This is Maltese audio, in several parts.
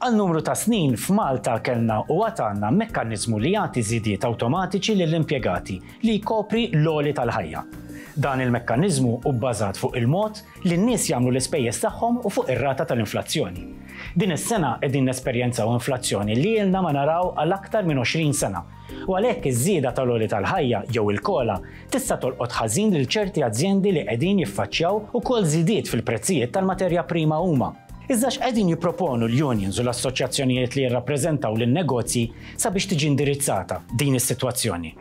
Għal numru ta' snin f'Malta kellna u għad għandna mekkaniżmu li jagħti żidiet awtomatiċi lill-impjegati li jkopri l-għoli tal-ħajja. Dan il-mekkaniżmu hu bbażat fuq il-mod li n-nies jagħmlu l-ispejjeż tagħhom u fuq ir-rata tal-inflazzjoni. Din is-sena qegħdin nesperjenzaw inflazzjoni li ilna ma naraw għal aktar minn 20 sena u għalhekk iż-żieda tal-għoli tal-ħajja jew il-COLA tista' tolqot ħażin lil ċerti azjendi li qegħdin jiffaċċjaw ukoll żidiet fil-prezzijiet tal-materja prima huma. Iżda x'qegħdin jipproponu l-unions u l-assoċjazzjonijiet li jirrappreżentaw lin-negozji sabiex tiġi indirizzata din is-sitwazzjoni?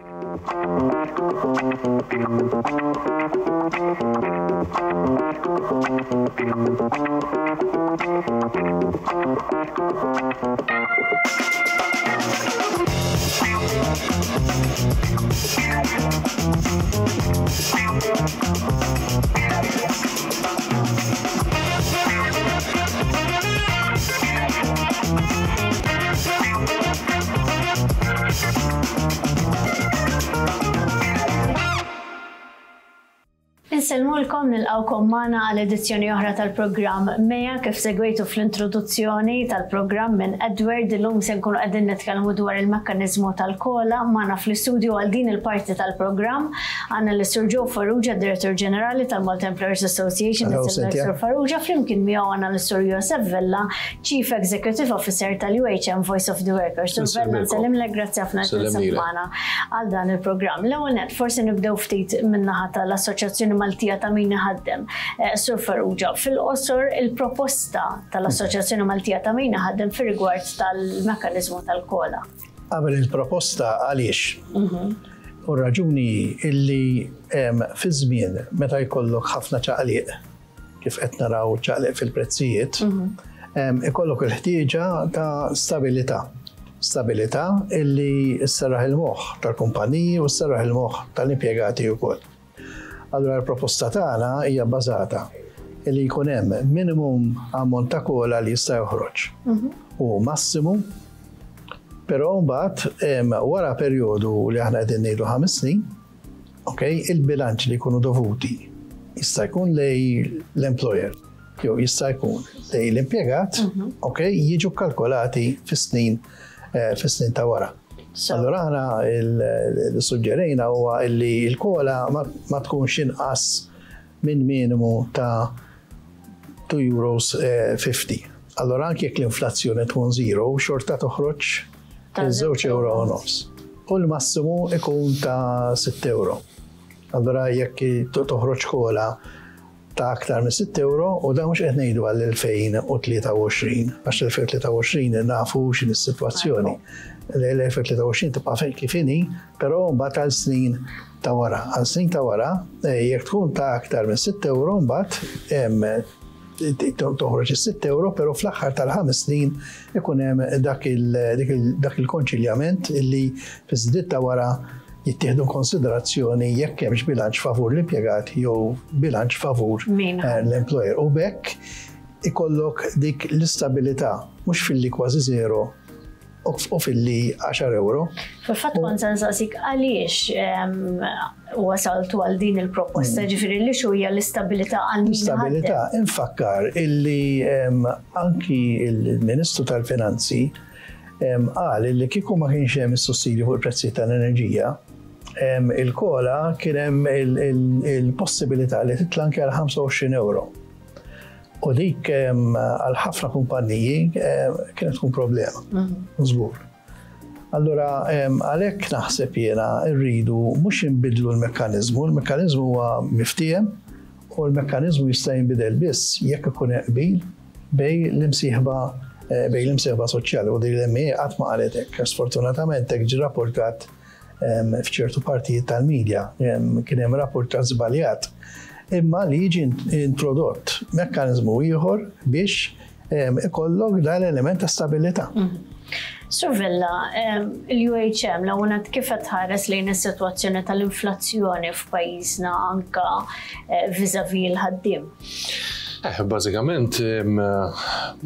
Insellmulkom nilqgħukom magħna għal edizzjoni oħra tal-programm Meja kif segwejtu fl-introduzzjoni tal-programm minn Edward illum se nkunu qegħdin nitkellmu dwar il-mekkaniżmu tal-kola magħna fl-istudju għal din il-parti tal-programm għandna lis-Sur Joe Farrugia, Direttur Ġenerali tal-Malta Employers Association, Sur Farrugia, flimkien miegħu għandna lis-Sur Josef Vella, Chief Executive Officer tal-UHM Voice of the Workers. Sur Vella, nsellimlek, grazzi ħafna li magħna għal dan il-programm. L-ewwel nett, forsi nibdew ftit min-naħa tal-Assoċjazzjoni Maltija ta' min iħaddem. Eh, Sur Farrugia, fil-qosor il-proposta tal-Assoċjazzjoni Maltija ta' min iħaddem fir-rigward tal-mekkaniżmu tal-kola. Qabel il-proposta għaliex? Mhm. U r-raġuni hi illi fi żmien meta jkollok ħafna ċaqliq, kif qed naraw ċaqliq fil-prezzijiet, mhm. ikollok il-ħtieġa ta' stabilità. Stabilità illi sserraħ il-moħħ tal-kumpaniji u sserraħ il-moħħ tal-impjegati wkoll. Allura l-proposta tagħna hija bbażata li jkun hemm minimum ammont ta' kola li jista' joħroġ mhm. u massimu però mbagħad wara perjodu li aħna qegħdin ngħidu ħames snin, ok, il-bilanċ li jkunu dovuti jista' jkun lej l-employer jew jista' jkun lej l-impjegat, mhm. ok, jiġu kalkolati fis-snin eh, fis-snin ta' wara. Allura aħna li suġġerejna huwa li l-kola ma tkunx inqas minn minimu ta' 2 euros 50. Eh, Allura anke jekk l-inflazzjoni tkun zero, xorta toħroġ żewġ euro u nofs. U l-massimu ikun ta' 6 euro. Allura jekk toħroġ kola ta' aktar minn 6 ewro u dan mhux qed ngħidu għall-2023 għax l-2023 nafu x'inhi s-sitwazzjoni. L-2023 tibqa' fejn kif inhi, però mbagħad għal snin ta' wara. Għal snin ta' wara, eh, jekk tkun ta' aktar minn 6 ewro mbagħad toħroġ is-6 euro, però fl-aħħar tal-ħames snin ikun hemm dak il-konċiljament illi fiż-żdied ta' wara jittieħdu konsiderazzjoni jekk hemmx bilanċ favur l-impjegat jew bilanċ favur eh, l-employer. U b'hekk ikollok dik l-istabilità mhux filli kważi zero u filli 10 euro. Fil-fatt kont se nsaqsik għaliex ehm, wasaltu għal din il-proposta, mm. ġifieri li xu hija l-istabilità għal min Stabilità, infakkar illi ehm, anki il-Ministru tal-Finanzi ehm, qal illi kieku ma kienx hemm is-sussidju fuq il-prezzijiet tal-enerġija, il-kola kien hemm il-possibilità li titla' anke għal 25 euro. U dik għal ħafna kumpanniji kienet tkun problema. Mhm. Żgur. Allura għalhekk naħseb jiena rridu mhux inbidlu l-mekkaniżmu, l-mekkaniżmu huwa miftiehem u l-mekkaniżmu jista' jinbidel biss jekk ikun qbil bej l-imsieħba eh, bej l-imsieħba soċjali u din l-MA qatt ma qalet hekk. Sfortunatament hekk ġi rapportat f'ċertu partijiet tal-medja kien hemm rapportat żbaljat imma li jiġi introdott mekkaniżmu ieħor biex ikollok dan l-element ta' stabilità. Mhm. Sur Vella, il-UHM l-għunat kif qed tħares lejn is-sitwazzjoni tal-inflazzjoni f'pajjiżna anka eh, vis-a-vis l-ħaddiem? Eh, bażikament,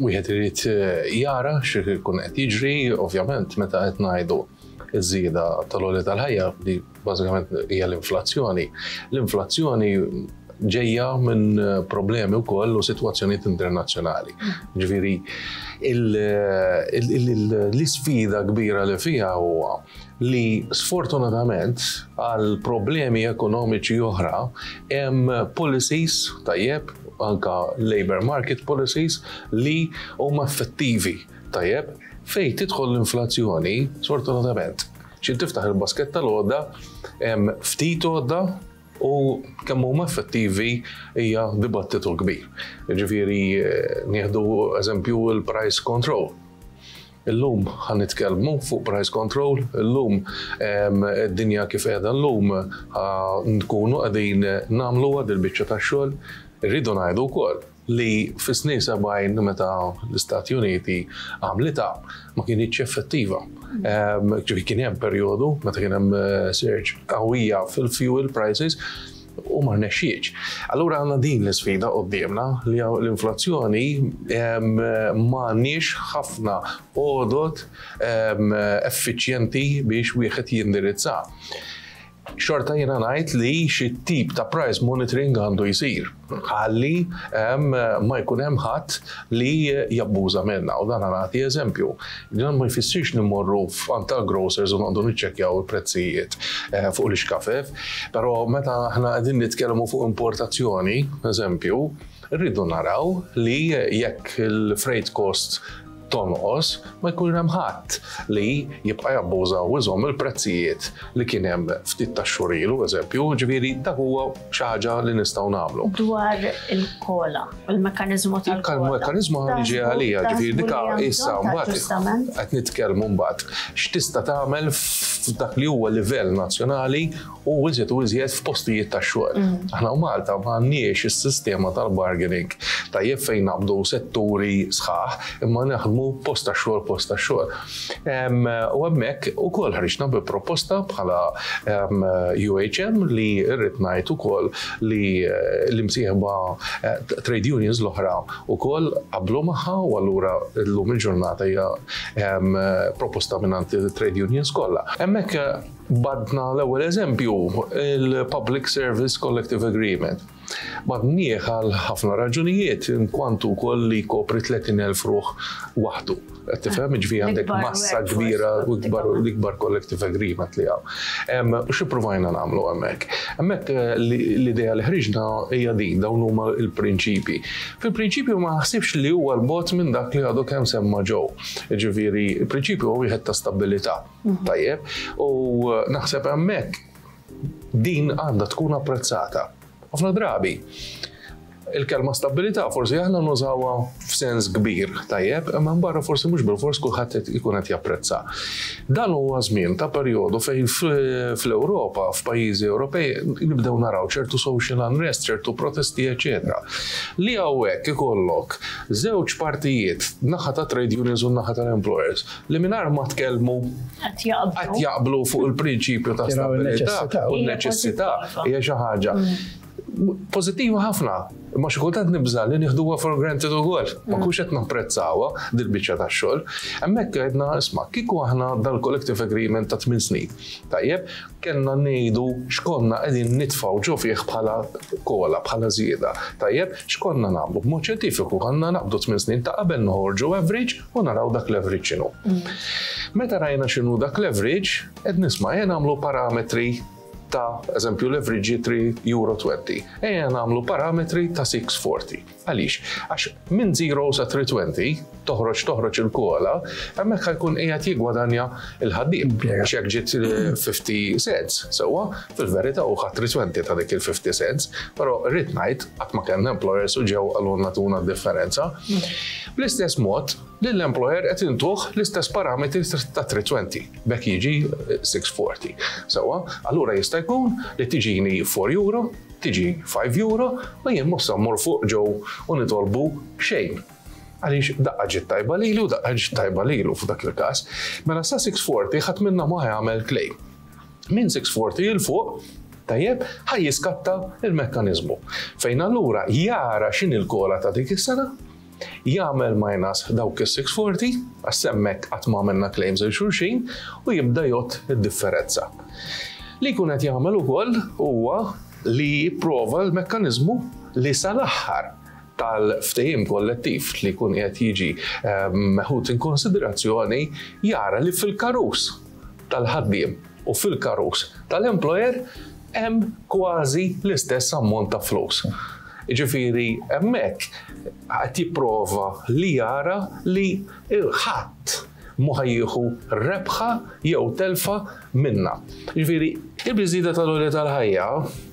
wieħed irid eh, jara x'ikun qed jiġri, ovvjament, meta qed ngħidu iż-żieda tal-għoli tal-ħajja li bażikament hija l-inflazzjoni. L-inflazzjoni ġejja minn problemi wkoll u sitwazzjonijiet internazzjonali. Ġifieri l-isfida kbira li fiha huwa li sfortunatament għal problemi ekonomiċi oħra hemm policies tajjeb anka labor market policies li huma effettivi tajjeb fejn tidħol l-inflazzjoni sfortunatament. Xi tiftaħ il-basket tal-għodda hemm ftit għodda u kemm huma effettivi hija dibattitu kbir. Ġifieri nieħdu eżempju il-price control. Illum ħa nitkellmu fuq price control, illum id-dinja kif qiegħda llum nkunu qegħdin nagħmlu dil-biċċa tax-xogħol. Irridu ngħidu wkoll li fis-snin 70 meta l-Istati Uniti għamlitha ma kinitx effettiva. Ġifieri kien hemm perjodu meta kien hemm surge qawwija fil-fuel prices u ma rnexxietx. Allura għandna din l-isfida quddiemna li l-inflazzjoni m'għandniex ħafna għodod effiċjenti biex wieħed jindirizza. Xorta jiena ngħid li xi tip ta' price monitoring għandu jsir ħalli ma jkun hemm ħadd li jabbuża minna u dan nagħti eżempju. Dan ma jfissirx li mmorru f'għand tal-grocers u noqogħdu niċċekkjaw il-prezzijiet fuq l-ixkafef, però meta aħna qegħdin nitkellmu fuq importazzjoni, eżempju, rridu naraw li jekk il-freight cost tonqos, ma jkun hemm ħadd li jibqa' jabbuża u jżomm il-prezzijiet li kien hemm ftit ta' xhur ilu, eżempju, ġifieri dak huwa xi ħaġa li nistgħu nagħmlu. Dwar il-COLA, il-mekkaniżmu tal-COLA. Il-mekkaniżmu ġi għalija, ġifieri dika issa mbagħad qed nitkellmu mbagħad x'tista' tagħmel f'dak li huwa livell nazzjonali u iżjed u iżjed f'postijiet ta' xogħol. Aħna u Malta m'għandniex is-sistema tal-bargaining tajjeb fejn naqbdu setturi sħaħ imma naħdmu post ta' xogħol post ta' xogħol. U hemmhekk ukoll ħriġna bi proposta bħala UHM li rrid ngħid ukoll li l-imsieħba trade unions l-oħra ukoll qablu magħha u allura llum il-ġurnata hija proposta mingħand trade unions kollha. Hemmhekk badna l-ewwel eżempju il-Public Service Collective Agreement. Badnieh għal ħafna raġunijiet, inkwantu wkoll li jkopri 30,000 ruħ waħdu. Qed tifhem, ġifieri għandek massa kbira u l-ikbar collective agreement li hawn. U xi provajna nagħmlu hemmhekk? Hemmhekk l-idea li ħriġna hija din, dawn huma l-prinċipji. Fil-prinċipju ma naħsibx li huwa l-bot minn dak li għadu kemm semma ġew. Ġifieri, il-prinċipju huwa wieħed ta' stabilità. Tajjeb, u naħseb hemmhekk din għandha tkun apprezzata. Ħafna drabi, il-kelma stabilità forsi aħna nużawha f'sens kbir, tajjeb, imma barra forsi mhux bil-fors kulħadd ikun qed japprezza. Dan huwa żmien ta' perjodu fejn fl-Ewropa, f'pajjiżi Ewropej, nibdew naraw ċertu social unrest, ċertu protesti, eċetera. Li hawnhekk ikollok żewġ partijiet, naħa ta' trade unions u naħa tal-employers, li mingħajr ma tkellmu qed jaqblu fuq il-prinċipju ta' stabilità u n-neċessità hija xi ħaġa pożittiva ħafna. Imma xi kultant nibża' li nieħduha for granted ukoll. Ma nkunx qed napprezzawha dil-biċċa tax-xogħol. Hemmhekk għedna isma' kieku aħna dal-collective agreement ta' 8 snin. Tajjeb, kellna ngħidu x'konna qegħdin nitfgħu ġo fih bħala COLA, bħala żieda. Tajjeb, x'konna nagħmlu? B'mod xjentifiku konna naqbdu 8 snin ta' qabel noħorġu average u naraw dak l-average x'inhu. Meta rajna x'inhu dak l-average, qed nisma' ejja nagħmlu parametri ta' eżempju l-average 3 euro 20. Ejja nagħmlu parametri ta' 640. Għaliex? Għax minn 0 sa 320 toħroġ il-COLA, hemmhekk ħa jkun qiegħed jiggwadanja il-ħaddiem. Għax jekk ġiet 50 cents, sewwa, fil-verità hu ħadd 320 ta' dik il-50 cents, però rrid ngħid qatt ma kellna employers u ġew qalulna tuna d-differenza. Bl-istess mod, lill-employer qed intuh l-istess parametri ta' 320, b'hekk jiġi 640. Sewwa, allura jista' jkun li tiġini 4 euro, tiġi 5 euro, u jien mhux sa mmur fuq ġew u nitolbu xejn. Għaliex daqqa ġiet tajba lilu, daqqa ġiet tajba lilu f'dak il-każ. Mela sa 640 ħadd minna ma jagħmel claim. Minn 640 il fuq, tajjeb, ħa jiskatta il-mekkaniżmu. Fejn allura jara x'inhi l-COLA ta' dik is-sena, jagħmel minus dawk is-640, għax hemmhekk qatt ma għamilna claims il xulxin, u jibda jgħodd id-differenza. Li jkun qed jagħmel ukoll huwa Li jipprova l-mekkaniżmu li sal-aħħar tal-ftehim kollettiv li jkun qiegħed jiġi meħud in konsiderazzjoni jara li fil-karus tal-ħaddiem u fil-karus tal-employer hemm kważi l-istess ammont ta' flus. Jiġifieri hemmhekk qed jipprova li jara li ħadd mhu ħa jieħu rebħa jew telfa minnha. Jiġifieri, il-biżieda tal-għoli tal-ħajja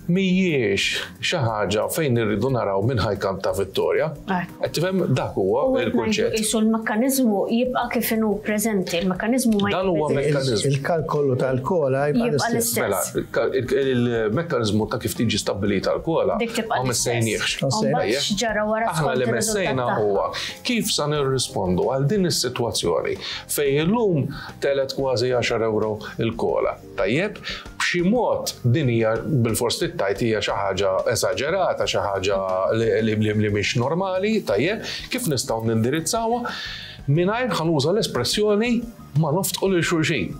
mhijiex xi ħaġa fejn irridu naraw min ħa jkanta vittorja. Qed tifhem dak huwa l-kunċett. Qisu l-mekkaniżmu jibqa' kif inhu preżenti, il-mekkaniżmu ma Dan huwa mekkaniżmu. Il-kalkolu tal-kola jibqa' l-istess. Mela, il-mekkaniżmu ta' kif tiġi stabbilita l-kola ma messejniehx. X'ġara wara Aħna li messejna huwa kif sa nirrispondu għal din is-sitwazzjoni fejn illum telgħet kważi għaxar ewro il-kola. Tajjeb, b'xi mod din hija bilfors trid tgħid hija xi ħaġa esaġerata, xi ħaġa li mhix normali, tajjeb, kif nistgħu nindirizzawha mingħajr ħa nuża l-espressjoni ma noftqu lil xulxin.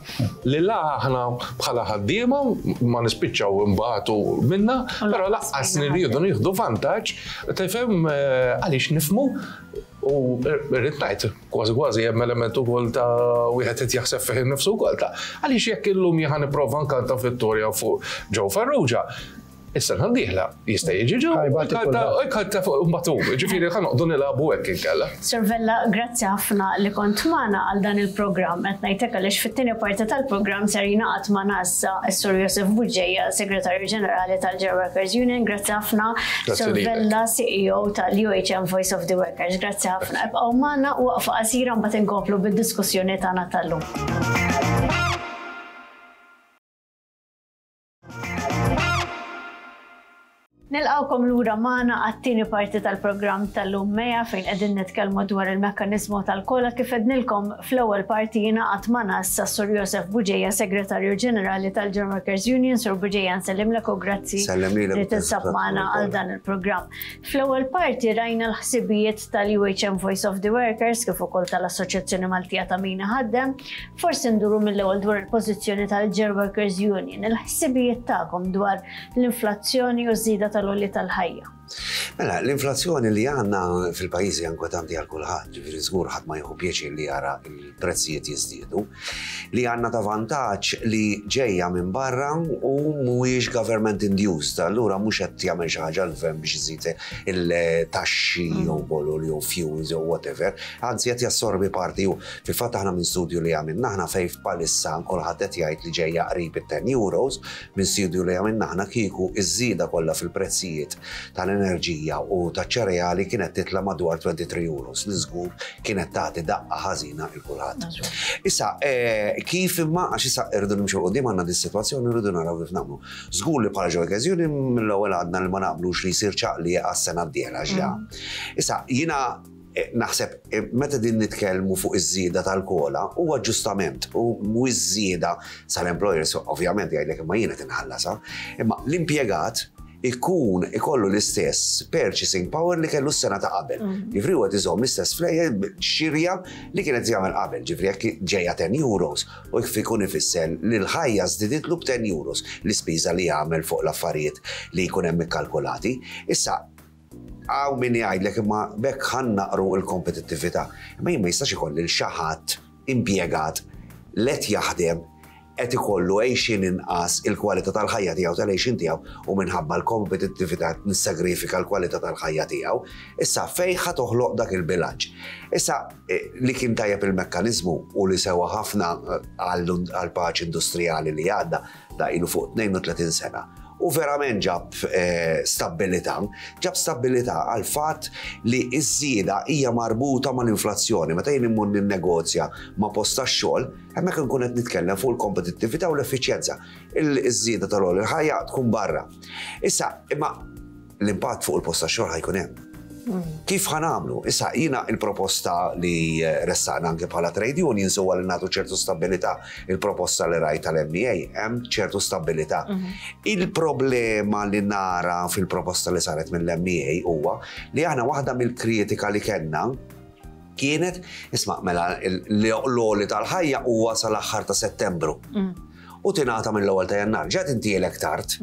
Li la aħna bħala ħaddiema ma nispiċċaw imbagħtu minna, però laqqas nirridu nieħdu vantaġġ, tifhem għaliex nifhmu U rrid ngħid, kważi kważi hemm element ukoll ta' wieħed qed jaħseb fih innifsu wkoll ta' għaliex jekk illum jien nipprova nkanta vittorja fuq Joe Farrugia, is-sena d-dieħla jista' jiġi Joe jkanta fuq mbagħad hu. Ġifieri ħa noqogħdu nilagħbu hekk inkella. Sur Vella, grazzi ħafna li kont magħna għal dan il-programm. Qed ngħidlek għaliex fit-tieni parti tal-programm ser jingħaqad magħna issa s-Sur Josef Bugeja, Segretarju Ġenerali tal-Ġew Workers Union. Grazzi ħafna. Sur Vella, CEO tal-UHM Voice of the Workers. Grazzi ħafna. Ibqgħu magħna waqfa qasira mbagħad inkomplu bid-diskussjoni tagħna tal-lum. Nilqawkom lura magħna għat-tieni parti tal-programm tal-lum Meja fejn qegħdin nitkellmu dwar il-mekkaniżmu tal-kola kif għednilkom fl-ewwel parti jingħaqad magħna issa Sur Josef Bugeja, Segretarju Ġenerali tal-German Workers Union. Sur Bugeja nsellimlek u grazzi li tinsab magħna għal dan il-programm. Fl-ewwel parti rajna l-ħsibijiet tal-UHM Voice of the Workers kif ukoll tal-Assoċjazzjoni Maltija ta' Min Iħaddem. Forsi nduru mill-ewwel dwar il-pożizzjoni tal-German Workers Union, il-ħsibijiet tagħkom dwar l-inflazzjoni u ż-żieda tal-għoli tal-ħajja. Mela, l-inflazzjoni li għandna fil-pajjiż hija inkwetanti għal kulħadd, ġifieri żgur ħadd ma jieħu pjaċir li jara l-prezzijiet jiżdiedu. Li għandna ta' vantaġġ li ġejja minn barra u mhuwiex government induced, allura mhux qed jagħmel xi ħaġa l-gvern biex iżid il-taxxi jew bolol jew fuels jew whatever, anzi qed jassorbi parti hu. Fil-fatt aħna minn studju li għamilna aħna fejn bħalissa kulħadd qed jgħid li ġejja qrib it-10 euros, Minn studju li għamilna aħna kieku iż-żieda kollha fil-prezzijiet tal-enerġija u taċ-ċereali kienet titla' madwar 23 euros li żgur kienet tagħti daqqa ħażina il kulħadd. Issa, eh, kif imma għax issa irridu nimxu quddiem għandna dis-sitwazzjoni rridu naraw kif nagħmlu. Żgur li bħala Joy Union mill-ewwel għadna li ma naqblux li jsir ċaqli għas-sena d-dieħla ġda. Mm. Issa, jiena Eh, naħseb eh, meta din nitkellmu fuq iż-żieda tal-kola huwa ġustament u mhu iż-żieda sal-employers ovvjament jgħidlek imma jiena tinħallasa, imma l-impjegat ikun ikollu l-istess purchasing power li kellu s-sena ta' qabel. Mm. Ġifri huwa iżomm l-istess flejjer xirja li kienet jagħmel qabel, ġifri jekk ġejja 10 euros u jekk ikun ifisser li l-ħajja żdiditlu b'10 euros l-ispiża li jagħmel fuq l-affarijiet li jkun hemm ikkalkulati. Issa Hawn min jgħidlek imma b'hekk ħa nnaqqru l-kompetittività. Imma jien ma jistax ikolli l xi ħadd impjegat li qed jaħdem qed ikollu għejxien inqas il-kwalità tal-ħajja tiegħu tal-għejxien tiegħu u minħabba l-kompetittività nissagrifika l-kwalità tal-ħajja tiegħu. Issa fejn ħa toħloq dak il-bilanċ? Issa eh, li kien tajjeb il-mekkaniżmu u li sewa ħafna eh, għall-paċi industrijali li għadda da ilu fuq 32 sena u verament ġab eh, stabbilità, ġab stabbilità għal fatt li ż-żieda hija marbuta mal-inflazzjoni. Meta jien immur ninnegozja ma' post tax-xogħol, hemmhekk inkun qed nitkellem fuq il-kompetittività u l-effiċjenza. Il-żieda tal-għoli l-ħajja tkun barra. Issa, imma l-impatt fuq il-post tax-xogħol ħajkun hemm. Kif ħa nagħmlu? Issa jiena il-proposta li ressaqna anke bħala trade unions huwa li nagħtu ċertu stabilità. Il-proposta li rajt tal-MEA hemm ċertu stabilità. Mhm. Il-problema li nara fil-proposta li saret mill-MEA huwa li aħna waħda mill-kritika li kellna kienet, isma' mela l-għoli tal-ħajja huwa sal-aħħar ta' Settembru. Mm. u tingħata mill-ewwel ta' Jannar, ġa tintielek tard.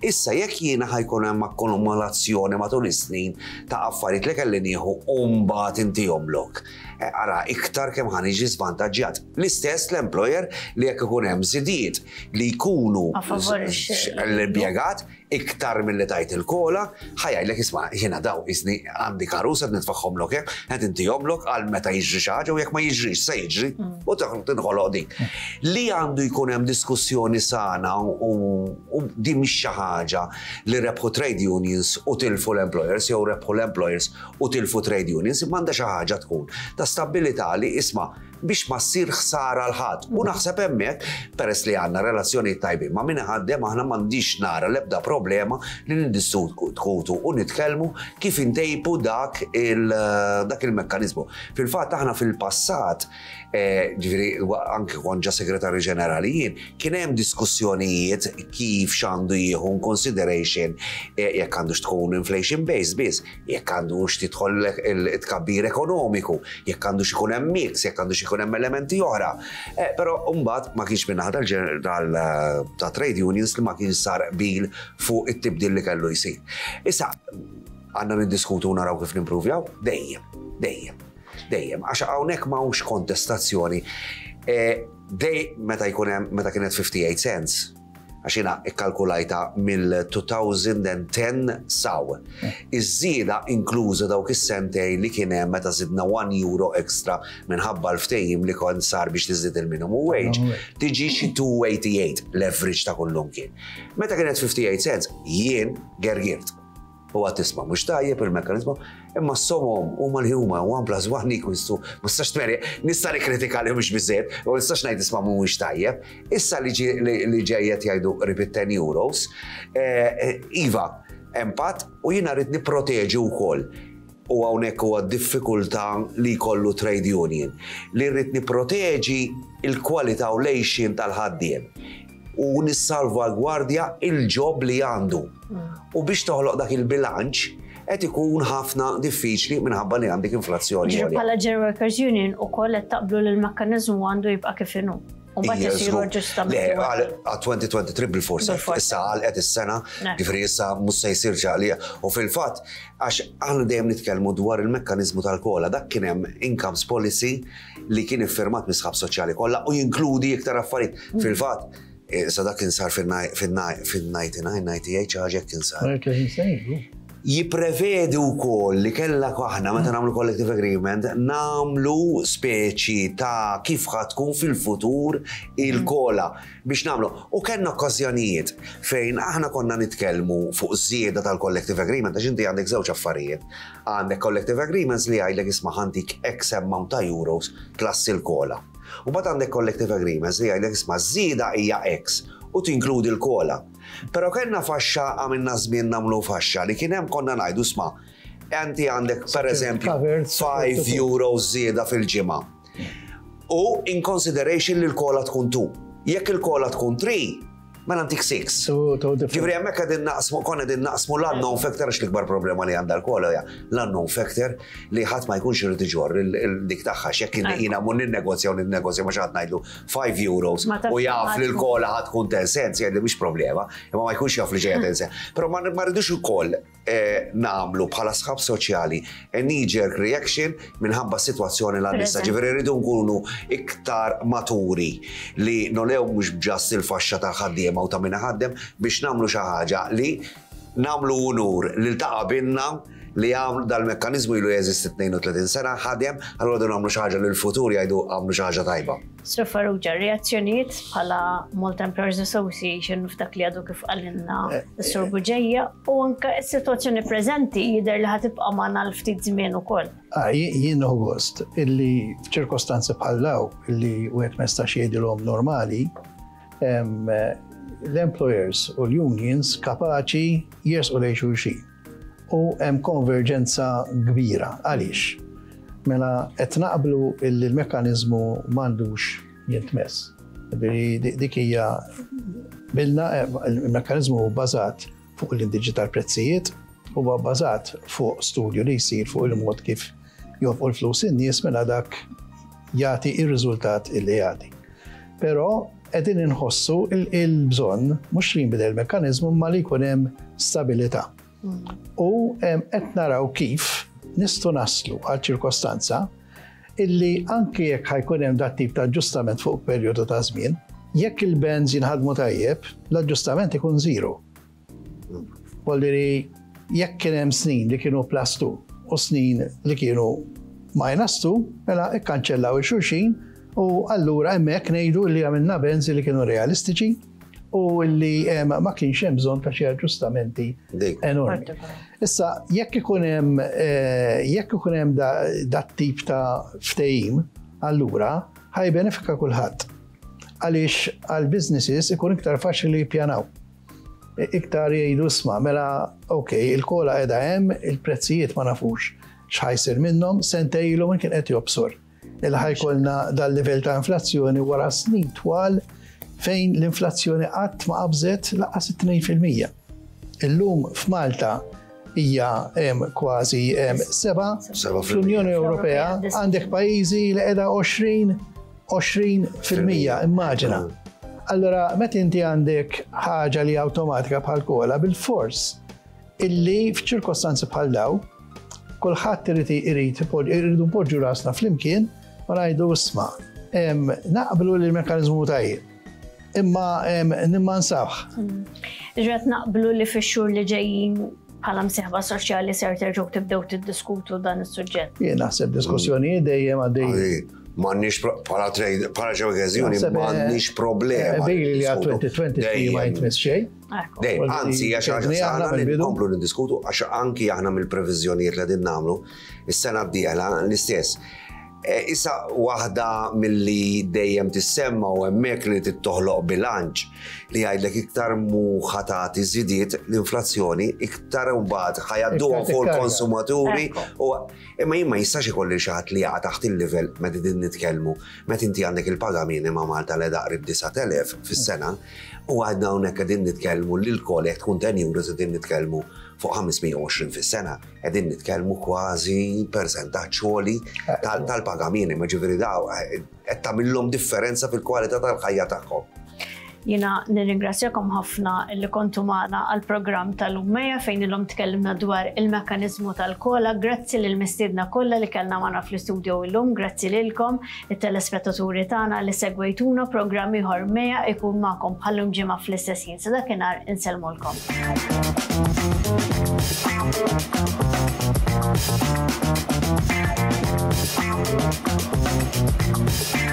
Issa jekk jiena ħa jkun hemm akkumulazzjoni matul is-snin ta' affarijiet li kelli nieħu u mbagħad intihomlok. Eh, ara iktar kemm ħa niġi żvantaġġjat. L-istess l-employer li jekk ikun hemm żidiet li jkunu l-impjegat iktar milli tajt il-COLA, ħa jgħidlek isma' jiena daw isni għandi karus qed nitfagħhomlok hekk, qed intihomlok għal meta jiġri xi ħaġa u jekk ma jiġrix se jiġri u tinħoloq dik. Li għandu jkun hemm diskussjoni sana u din mhix xi ħaġa li rebħu trade unions u tilfu l-employers jew rebħu l-employers u tilfu trade unions, imma għandha xi ħaġa tkun ta' stabbilità li isma' biex ma ssir ħsara 'l ħadd. U naħseb hemmhekk, peress li għandna relazzjonijiet tajbin ma' min iħaddem aħna m'għandix nara l-ebda problema li niddiskutu u nitkellmu kif intejbu dak dak il-mekkaniżmu. Fil-fatt aħna fil-passat, ġifieri anke kont ġa segretarju ġenerali jien, kien hemm diskussjonijiet kif x'għandu jieħu in consideration jekk għandux tkun inflation based biss, jekk għandux tidħol it-tkabbir ekonomiku, jekk għandux ikun hemm mix, jekk għandux ikun hemm elementi oħra. Eh, però mbagħad ma kienx minn ta' trade unions li ma kienx sar qbil fuq it-tibdil li kellu jsir. Issa, għandna niddiskutu u naraw kif nimpruvjaw? Dejjem, dejjem, dejjem. Għax hawnhekk m'hawnx kontestazzjoni. Eh, dej meta jkun hemm meta kienet 58 cents, għax jiena ikkalkulajta mill-2010 saw. Iż-żieda inkluża dawk is-sentejn li kien hemm meta żidna 1 euro extra minħabba l-ftehim li kont sar biex tiżdied il-minimum wage, tiġi xi 288 l-average ta' kullumkien. Meta kienet 58 cents, jien gergirt. U għad tisma' mhux tajjeb il-mekkaniżmu, imma s-somom huma li huma 1 plus 1 equals 2, ma nistax tmeri, nista' nikkritika li mhux biżejjed, u nistax ngħid isma' mhuwiex tajjeb. Issa li ġejjet jgħidu qrib 10 euros, eh, eh, iva, impatt u jiena rrid nipproteġi wkoll u hawnhekk huwa diffikultà li jkollu trade union li rrid nipproteġi il-kwalità u l-għejxien tal-ħaddiem u nissalvagwardja il-job li għandu. U biex toħloq dak il-bilanċ, qed ikun ħafna diffiċli minħabba li għandek inflazzjoni. Ġifieri bħala General Workers Union ukoll qed taqblu li l-mekkaniżmu għandu jibqa' kif inhu. U mbagħad isiru aġġustamenti. Le, għal 2023 bil-forsa. Issa għalqet is-sena, ġifieri issa mhux se jsir ċaqlija. U fil-fatt, għax aħna dejjem nitkellmu dwar il-mekkaniżmu tal-COLA, dak kien hemm incomes policy li kien iffirmat mis-sħab soċjali kollha u jinkludi iktar affarijiet. Fil-fatt, eh, sa dak kien sar fil-99, 98 xi ħaġa kien sar. Jipprevedi wkoll li kellha aħna meta nagħmlu collective agreement nagħmlu speċi ta' kif ħa tkun fil-futur il-COLA biex nagħmlu. U kellna okkażjonijiet fejn aħna konna nitkellmu fuq żieda tal-collective agreement għax inti għandek żewġ affarijiet. Għandek collective agreements li jgħidlek isma' ħa ntik X amount ta' euros plus il-COLA. U mbagħad għandek collective agreements li jgħidlek isma' żieda hija X u tinkludi l-COLA. Però kellna faxxa għamilna żmien nagħmlu faxxa li kien hemm konna ngħidu isma' inti għandek per eżempju 5 euros żieda fil-ġimgħa. U in consideration li l-COLA tkun 2. Jekk il-COLA tkun 3, mela ntik 6. Ġifieri hemmhekk qegħdin naqsmu konna qegħdin naqsmu l-unknown factor għax l-ikbar problema li għandha l-COLA hija l-unknown factor li ħadd ma jkunx irid iġorr dik tagħha x'jekk jiena mmur ninnegozja u ninnegozja ma xi ħadd ngħidlu 5 euros u jaf li l-COLA ħa tkun 10 cents jgħidli mhix problema, imma ma jkunx jaf li ġejja 10 cents. Però ma rridux ukoll eh, nagħmlu bħala sħab soċjali a knee-jerk reaction minħabba s-sitwazzjoni l għandissa. Ġifieri rridu nkunu iktar maturi li nolew mhux bġast il-faxxa tal-ħaddiema u ta' min ħaddem biex nagħmlu xi ħaġa li nagħmlu unur lil ta' qabilna li għamlu dal-mekkanizmu ilu jeżisti 32 sena, ħadem, allura rridu nagħmlu xi ħaġa li l-futur jgħidu għamlu xi ħaġa tajba. Sur Farrugia, reazzjonijiet bħala Malta Employers Association f'dak li għadu kif qalilna eh, s-Sur eh. Buġeja u anke s-sitwazzjoni preżenti jidher li ħa tibqa' magħna l ftit żmien ukoll. Ah, jien nieħu gost illi f'ċirkostanzi bħal daw illi wieħed ma jistax jgħidilhom normali, l-employers u l-unions kapaċi jersqu lejn xulxin. U hemm konverġenza kbira. Għaliex? Mela qed naqblu illi l-mekkaniżmu m'għandux jintmess. Dik hija bilna eh, il-mekkaniżmu hu bbażat fuq l-indiċi tal-prezzijiet, huwa bbażat fuq studju li jsir fuq il-mod kif jonfqu l-flus in-nies mela dak jagħti ir-riżultat illi jagħti. Però qegħdin inħossu il-bżonn mhux li jinbidel il-mekkaniżmu imma li jkun hemm stabilità. U qed naraw kif nistgħu naslu għal ċirkostanza illi anki jekk ħa jkun hemm dat tip ta' aġġustament fuq perjodu ta' żmien, jekk il-bands jinħadmu tajjeb, l-aġġustament ikun zero. Voldiri, jekk kien hemm snin li kienu plus 2 u snin li kienu minus 2, mela ikkanċellaw il-xulxin u allura hemmhekk ngħidu li għamilna bands li kienu realistiċi u li ma kienx hemm bżonn ta' xi aġġustamenti enormi. Issa, jekk ikun hemm eh, jekk ikun hemm dat tip ta' ftehim, allura ħa jibbenefika kulħadd. Għaliex għal businesses ikun iktar faċli li jippjanaw. Iktar jgħidu isma' mela ok, il-COLA qiegħda hemm, il-prezzijiet ma nafux x'ħa jsir minnhom, sentejn ilu min kien qed jobsor il ħa jkollna dal-livell ta' inflazzjoni wara snin twal fejn l-inflazzjoni qatt ma qabżet lanqas it-2%. Illum f'Malta hija kważi 7, fl-Unjoni Ewropea għandek pajjiżi li qiegħda 20 20%, immaġina. Allora, meta inti għandek ħaġa li awtomatika bħal COLA bil-fors illi f'ċirkostanzi bħal daw, kulħadd irid irid irridu npoġġu rasna flimkien u ngħidu isma' naqblu li l-mekkaniżmu tajjeb. Imma nimmansawh. Ġret naqblu li fix-xhur li ġejjin bħala msieħba soċjali ser terġgħu tibdew tiddiskutu dan is-suġġett. Jien naħseb diskussjonijiet dejjem għaddej. M'għandniex bħala trade, bħala ġewgeżjoni m'għandniex problema. Bejli li għal 2023 ma jitmiss xejn. Dej, anzi, għax aħna nkomplu niddiskutu għax anki aħna mill-previżjonijiet li qegħdin nagħmlu is-sena d-dieħla l-istess. Issa waħda milli dejjem tissemma u hemmhekk li tittoħloq bilanċ li jgħidlek iktar mu ħa tagħti żidiet l-inflazzjoni iktar mbagħad ħa jgħadduhom fuq il-konsumaturi u imma jien ma jistax ikolli xi ħadd li jaqa' taħt il-livell meta din nitkellmu meta inti għandek il-paga minima Malta li qrib 9,000 fis-sena u għadna hawnhekk qegħdin nitkellmu li l-COLA jekk tkun 10 euros qegħdin nitkellmu fuq 520 fis-sena. Qegħdin nitkellmu kważi persentaġġ għoli tal-paga minima, ġifieri daw qed tagħmilhom differenza fil-kwalità tal-ħajja tagħhom. Jiena nirringrazzjakom ħafna li kontu magħna għal-programm tal-Ummeja fejn illum tkellimna dwar il-mekkaniżmu tal-COLA. Grazzi lil mistiedna kollha li kellna magħna fl-istudio illum, grazzi lilkom it-telespettaturi tagħna li segwejtuna programm ieħor Meja ikun magħkom bħallum ġimgħa fl-istess ħin. Sa dakinhar insellmulkom. Thank you.